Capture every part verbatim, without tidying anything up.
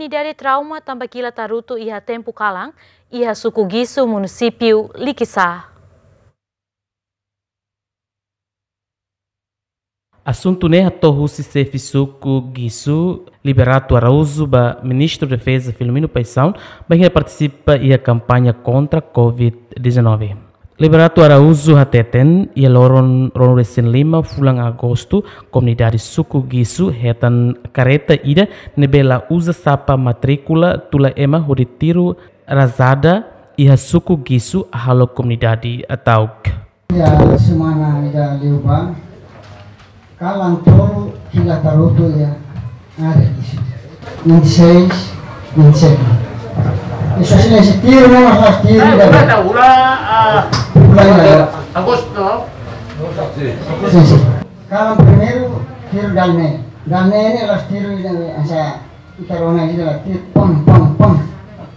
Komunidade trauma tanba kilat harutu iha tempu kalan, iha suku Gisu, munisípiu Likisá. Asuntu ne'e hato'o husi xefe suku Gisu, Liberato Araújo, ba Ministru Defeza Filomeno Paixão, bainhira partisipa iha kampaña kontra covid dezanove. Liberato Araújo hateten, iha loron ruanulu-resin-lima fulan Agostu, komunidade suku Gisu hetan karreta ida ne'ebé la uza sapa matríkula tula ema hodi tiru rajada iha suku Gisu halo komunidade ta'uk. Iha semana ida liubá, kalan tolu kilat harutu iha área Gisu. Vinte e seis, vinte e sete. Sua Exelénsia, tiru, não, mas nós tiru, eh, ida, ulah, ulah, ah, ulah, ya. Agostu, no? Sin, sin. Kalan primeiru, tiru dala neen. Dala neen ne'e la'ós tiru ida, hanesan ita rona ida la tiru, pom, pom, pom.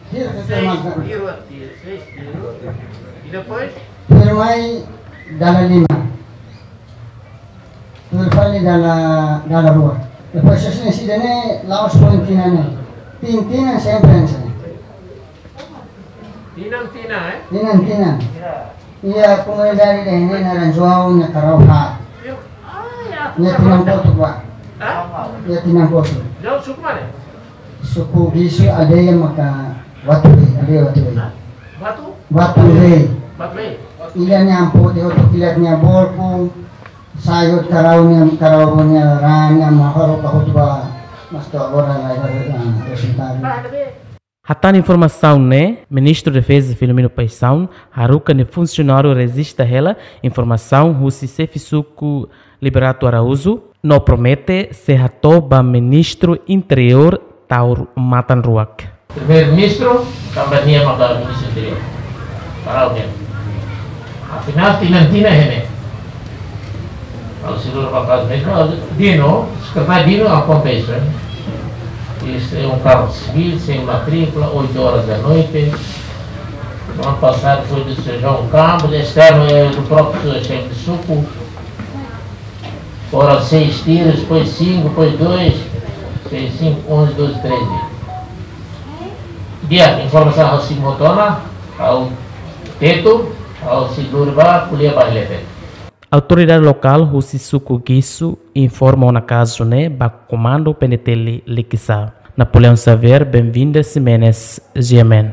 Tiru, tiru, seis tiru, tiru, seis tiru. E depois? Tiru mai dala lima. Tiru fali dala, dala rua. Depois, se sini sida ne'e, la'ós poin tinan ne'e. Tin, tinan sempre hanesan ne'e. Tinan, tinan, eh? Tinan, tinan. Iha komunidade ida ne'e naran João, nia karau haat. Nia tinan kotuk ba. Hah? Nia tinan kotuk. João suku mana? Suku Gisu, aldeia maka Batu Rei, aldeia Batu Rei. Batu? Batu Rei. Batu Rei. Ida nia ampo de outro kilat nia bolku, sai hotu karau nia, karau nia raan nia mahoro ka hotu ba, mas to'o agora la iha, ah, rezultadu. Hatán informasaun ne'e, Ministru Defeza Filomeno Paixão haruka nia funsionáriu rejista hela informasaun husi xefe suku Liberato Araújo, no promete sei hato'o ba Ministru Interiór taur matan-ruak. Primeiru-Ministru, tanba nia maka Ministru Interiór. Karau nia. Afinál, tinan-tinan iha ne'e. Ha'u sei lori ba kazu mezmu, Dino, sekretáriu Dino akontese. Isto é um carro civil, sem matrícula, oito horas da noite. No ano passado foi do seu João Campos, este ano é do próprio xefe de suku. Foram seis tiros, depois cinco, depois dois, seis, cinco, onze, doze, treze. Di'ak, informasaun ha'u sei mós toma, ha'u tetu, ha'u sei lori ba ko'alia ba leten. Autoridade lokál husi suku Gisu informa ona kazu ne'e ba Komandu P N T L Likisá. Napoleão Xavier, Benvinda Ximenes, G M N.